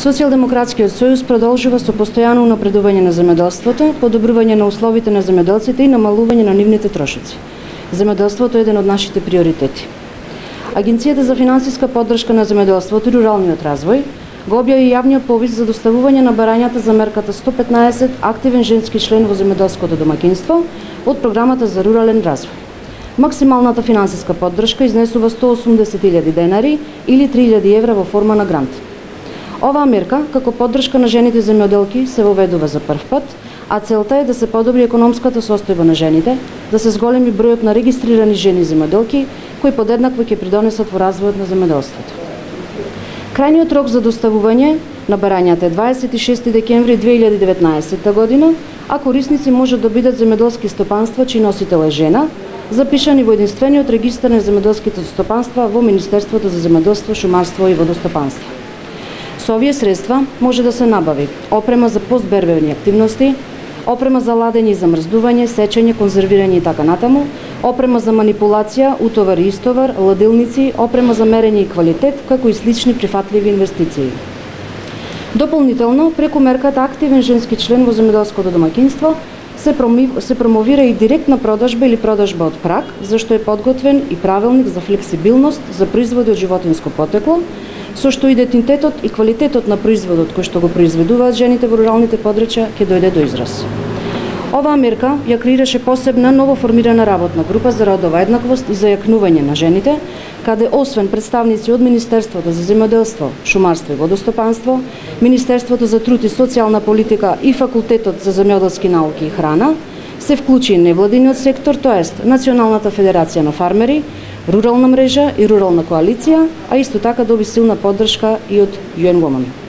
Социјалдемократскиот сојуз продолжува со постојано унапредување на земјоделството, подобрување на условите на земјоделците и намалување на нивните трошоци. Земјоделството е еден од нашите приоритети. Агенцијата за финансиска поддршка на земјоделството и руралниот развој го објави јавниот повик за доставување на барањата за мерката 115 активен женски член во земјоделското домаќинство од програмата за рурален развој. Максималната финансиска поддршка изнесува 180.000 денари или 3.000 евра во форма на грант. Оваа мерка, како поддршка на жените земјоделки, се воведува за прв пат, а целта е да се подобри економската состојба на жените, да се зголеми бројот на регистрирани жени земјоделки, кои подеднакво ќе придонесат во развојот на земјоделството. Крајниот рок за доставување на барањата е 26 декември 2019 година, а корисници можат да бидат земјоделски стопанства чиј носител е жена, запишани во единствениот регистар на земјоделските стопанства во Министерството за земјоделство, шумарство и водостопанство. Со овие средства може да се набави опрема за постбербени активности, опрема за ладење и замрздување, сечење, конзервирање и така натаму, опрема за манипулација, утовар и истовар, ладилници, опрема за мерење и квалитет, како и слични прифатливи инвестиции. Дополнително, преку мерката активен женски член во земјоделското домаќинство се промовира и директна продажба или продажба од праг, зашто е подготвен и правилник за флексибилност за производи од животинско потекло, со што идентитетот и квалитетот на производот кој што го произведуваат жените во руралните подрачја ќе дојде до израз. Оваа мерка ја креираше посебна новоформирана работна група за родова еднаквост и за јакнување на жените, каде освен представници од Министерството за земјоделство, шумарство и водостопанство, Министерството за труд и социјална политика и Факултетот за земјоделски науки и храна, се вклучи невладиниот сектор, тоест Националната федерација на фармери, рурална мрежа и рурална коалиција, а исто така доби силна поддршка и од UN Women.